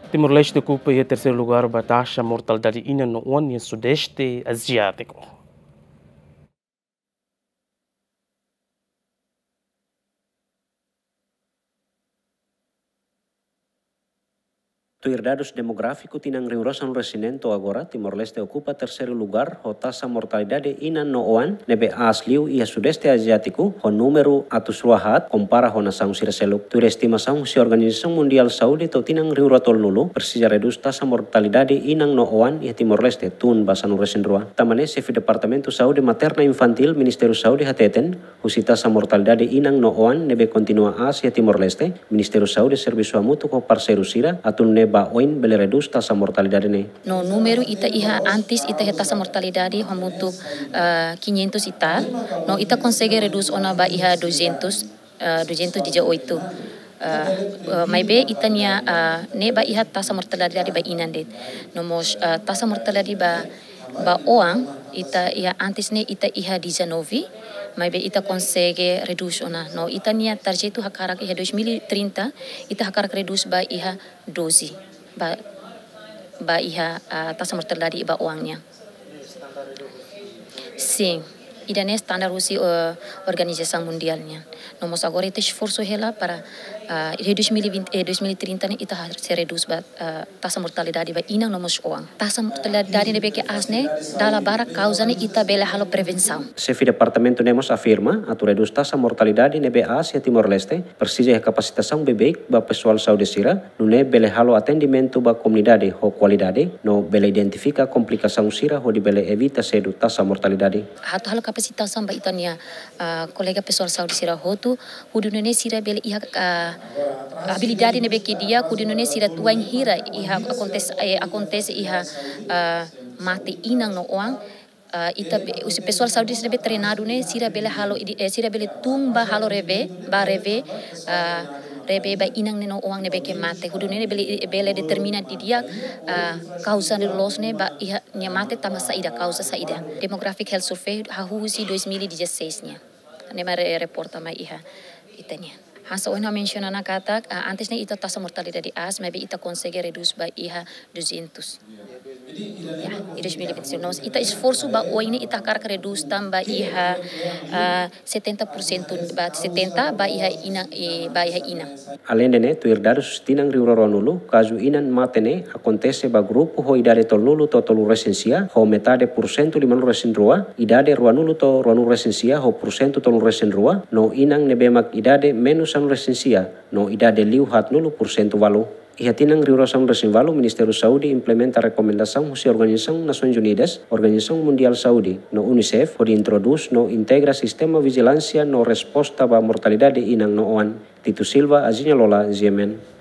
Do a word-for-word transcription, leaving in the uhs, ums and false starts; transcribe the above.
Timor-Leste okupa iha terseiru lugar ba taxa mortalidade inan no oan iha Sudeste Aziátiku. Tuir dadus demográfiku tinan rihun rua sanulu-resin-neen to'o agora, Timor-Leste okupa terseiru lugar ho taxa mortalidade inan no oan ne'ebé aas liu iha Sudeste Aziátiku ho númeru atus rua haat kompara ho nasaun sira seluk. Tuir estimasaun husi Organizasaun Mundiál Saúde to'o tinan rihun rua tolunulu, presiza redús taxa mortalidade inan no oan iha Timor-Leste tun ba sanulu-resin-rua. Tanba ne'e, Xefe Departamentu Saúde Materna Infantíl Ministériu Saúde hateten, husi taxa mortalidade inan no oan ne'ebé kontinua aas iha Timor-Leste, Ministériu Saúde servisu hamutuk ho parseiru sira atu nune'e ba oin bele redús taxa mortalidade ne'e. No númeru ita iha antes, ita iha taxa mortalidade hamutuk, ah, quinhentos e tal. No ita konsege redús ona ba iha duzentos, ah, duzentos e dezoito. Ah, ah, maibé ita-nia, ah, ne'e ba iha taxa mortalidade ba inan de'it. No mós, ah, taxa mortalidade ba, ba oan, ita iha antes ne'e ita iha dezanove, maibé ita konsege redús ona. No ita-nia tarjetu hakarak iha dois mil e trinta, ita hakarak redús ba iha doze, ba, ba iha, ah, taxa mortalidade ba oan nian. Sin, ida-ne'e standar husi, eh, Organizasaun Mundiál nian. No mós agora ita esforsu hela para, ah, iha dois mil e vinte, eh, dois mil e trinta ne'e ita haree se redús ba, ah, taxa mortalidade ba inan no mós oan. Taxa mortalidade ne'ebé ke aas ne'e, dala barak kauza ne'e ita bele halo prevensaun. Xefe departamentu ne'e mós afirma, atu redús taxa mortalidade ne'ebé aas iha Timor-Leste, presiza iha kapasitasaun beibeik ba pesoál saúde sira, nune'e bele halo atendimentu ba komunidade ho kualidade, no bele identifika komplikasaun sira hodi bele evita sedu taxa mortalidade. Atu halo kapasitasaun ba ita-nia, ah, kolega pesoál saúde sira hotu, hodi nune'e sira bele iha, ah, abilidade ne'ebé ke di'ak, hodi nune'e sira wainhira iha akontese, eh, akontese iha, ah, mate inan no oan, ah, ita be-, husi pesoál saúde sira be treinadu ne'e, sira bele halo, ide-, eh, sira bele tun ba halo revee, ba revee, ah, revee ba inan ne'e no oan ne'ebé ke mate. Hodi nune'e bele, bele determina didi'ak, ah, kauza ne'e loloos ne'e ba iha nia mate tanba saida, kauza saida. Demographic Health Survey hahú husi dois mil e dezasseis nian. Ne'e mak re-, reporta mai iha ita-nian. Hanesan ohin ha'u mensiona ona katak, ah, antes ne'e ita taxa mortalidade aas, maibé ita konsege redús ba iha duzentos. Ya, iha dois mil e vinte e cinco. No mós ita esforsu ba oin ne'e ita hakarak redús tan ba iha, ah, setenta por cento, ba setenta ba iha inan, eh, ba iha inan. Aleinde ne'e, tuir dadus tinan rihun rua ruanulu, kazu inan mate ne'e akontese ba grupu ho idade tolunulu to'o tolu-resin-sia, ho metade pursentu limanulu-resin-rua, idade ruanulu to'o ruanulu-resin-sia, ho pursentu tolunulu-resin-rua, no inan ne'ebé mak idade menus sanulu-resin-sia, no idade liu haatnulu pursentu walu. Iha tinan rihun rua sanulu-resin-walu, Ministériu Saúde implementa rekomendasaun husi Organizasaun Nasoins Unidas, Organizasaun Mundiál Saúde, no UNICEF, hodi introdús no integra sistema vijilánsia no resposta ba mortalidade inan no oan. Tito Silva, Aziña Lola, G M N.